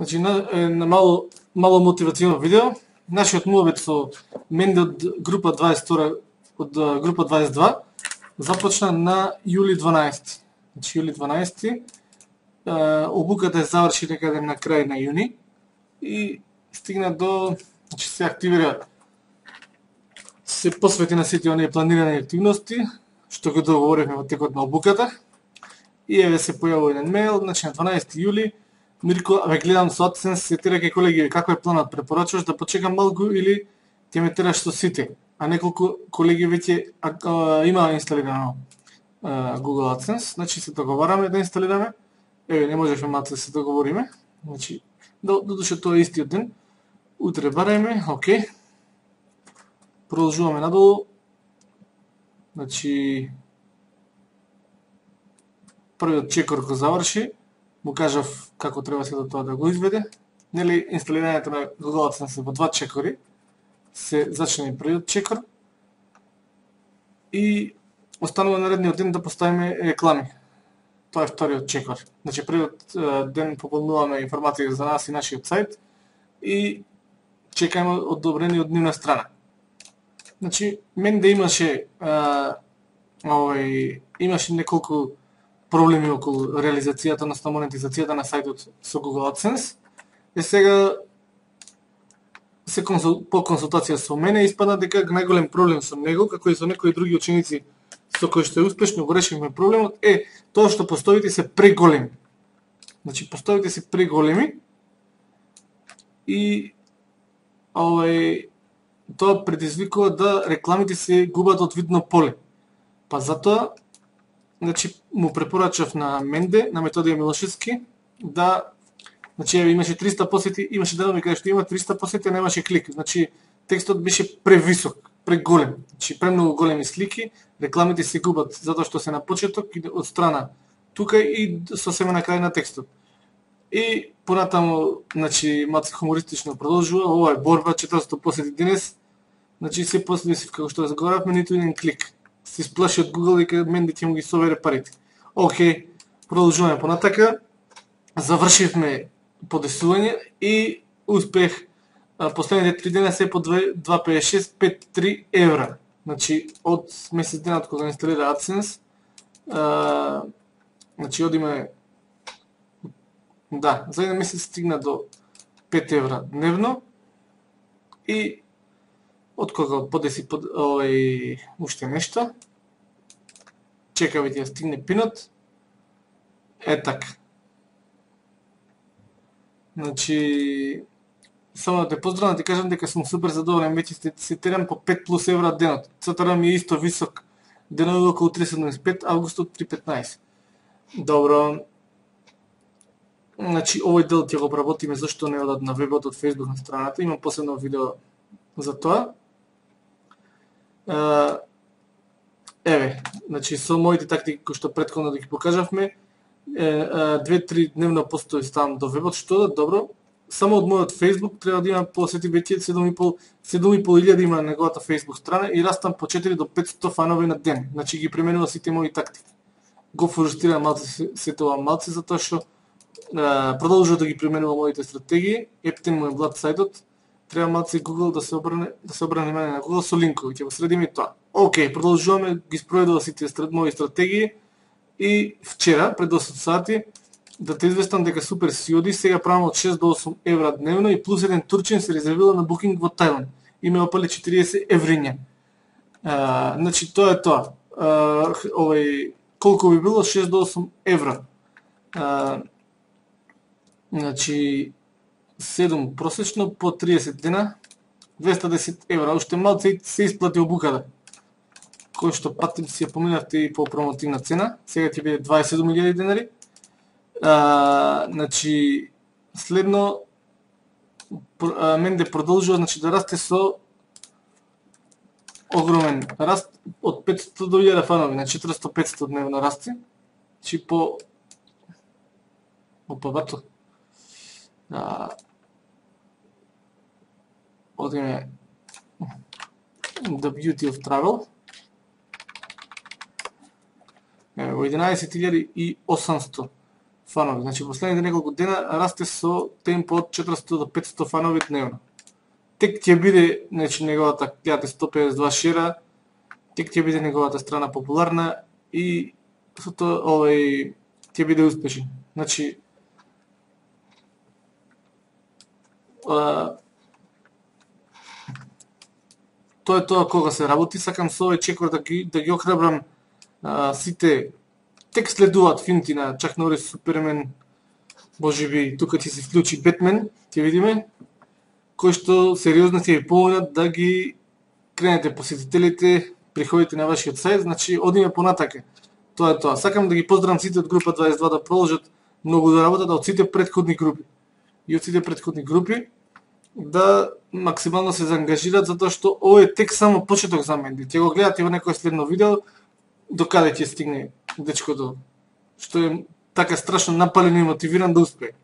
Значи, на мало мотивационо видео. Нашиот муабет со Менде од група 22, од група 22 започна на јули 12. Значи, јули 12. Обуката заврши некаде на крај на јуни и стигна до, значи се активира, се посвети на сите оние планирани активности што го договоривме во текот на обуката. И еве се појавува еден мејл, значи на 12 јули, Мирко, гледам со AdSense, се тера ке колеги, како е планот, препорачуваш да почекам малку или ќе ме тераш со сите? А неколку колеги веќе има инсталирано Google AdSense, значи се договараме да инсталираме. Еве, не можевме малку да се договориме. Значи, додуше тоа е истиот ден. Утре барајме, окей. Продолжуваме надолу. Значи, првиот чекор го заврши, му кажав како треба се до тоа да го изведе. Нели, инсталирањето на Google AdSense во 2 чекори. Се зачне првиот чекор и останува наредниот ден да поставиме реклами. Тоа е вториот чекор. Значи, првиот ден пополнуваме информација за нас и нашиот сајт и чекаме одобрение од нивна страна. Значи, Менде имаше имаше неколку проблеми околу реализацијата, односно монетизацијата на сајтот со Google AdSense. И сега по консултација со мене испадна дека најголем проблем со него, како и со некои други ученици со кои што успешно го решивме проблемот, е тоа што постоите се преголеми. Значи, постоите се преголеми и тоа предизвикува да рекламите се губат од видно поле. Па затоа, значи, му препорачав на Менде, на Методија Милошевски, да, значи, имаше 300 посети, имаше денови каде што има 300 посети, а немаше клик. Значи, текстот беше превисок, преголем. Значи, премногу големи слики, рекламите се губат затоа што се на почеток и од страна тука и сосема на крај на текстот. И понатаму, значи, малку хумористично продолжува, ова е борба, 400 посети денес, значи, се последи си, како што разговаравме, ниту еден клик. Се сплаши од Google дека Менде ќе му ги собере парите. Океј, продолжуваме понатака. Завршивме подесување и успех. Последните 3 дена се по 2,56, 5,3 евра. Значи, од месец денот кога инсталира AdSense, значи, одиме, да, за еден месец стигна до 5 евра дневно и од кога подеси уште нешто, чекаве ќе стигне пинот, е така. Значи, само да те поздравам, да ти кажам дека сум супер задоволен, веќе се терам по 5 плюс евра денот. Цатара ми е исто висок, денови околу 3,75, августот 3,15. Добро. Значи, овој дел ќе го обработиме зашто не одат на вебот од Facebook на страната, имам посебно видео за тоа. Еве, значи, со моите тактики кои што претходно да ги покажавме, 2-3 дневно постои ставам до вебот, што да, добро. Само од мојот Facebook треба да има посети веќе 7.500 има неговата Facebook страна и растам по 4 до 500 фанови на ден. Значи ги применува сите мои тактики. Го фрустрирам малце се тоа малце затоа што продолжува да ги применува моите стратегии. Ептен му е влад сајтот. Треба малце Google да се обране мене на Google со линкови, ќе го средиме и тоа. Океј, продолжуваме, ги спроведува сите мои стратегии и вчера, пред 8 сати, да те известам дека супер си оди, сега правам од 6 до 8 евра дневно и плюс еден турчин се резервира на Booking во Тајланд. И ме опали 40 евриња. Значи, тоа е тоа. Колку би било? 6 до 8 евра. Значи, 7 просечно по 30 дена, 210 евра. Уште малце се исплати обуката. Кој што патим си ја поминавте и по промотивна цена. Сега ќе биде 27.000 денари. Значи, следно, Менде продолжува, значи, да расте со огромен раст од 500 до 1000 фанови, на 400-500 дневно расти. Значи, по... Опа, бато. Одиме The Beauty of Travel. Во 11.800 фанови. Значи последните неколку дена расте со темпо од 400 до 500 фанови дневно. Тек ќе биде, значи неговата 1552 шера, тек ќе биде неговата страна популарна и со тоа ќе биде успешен. Значи тоа е тоа кога се работи. Сакам со овој чекор да ги охрабрам сите. Тек следуваат филмти на Чак Норис, Супермен, можеби тука ќе се вклучи Бетмен, ќе видиме, кои што сериозно ќе ви помогнат да ги кренете посетителите, приходите на вашиот сајт, значи одиме понатака. Тоа е тоа. Сакам да ги поздравам сите од група 22 да продолжат многу да работат, од сите претходни групи. И од сите претходни групи да максимално се заангажираат, затоа што ово е тек само почеток за мене. Ќе го гледате во некој следно видео, до каде ќе стигне дечкото, што е така страшно напален и мотивиран да успее.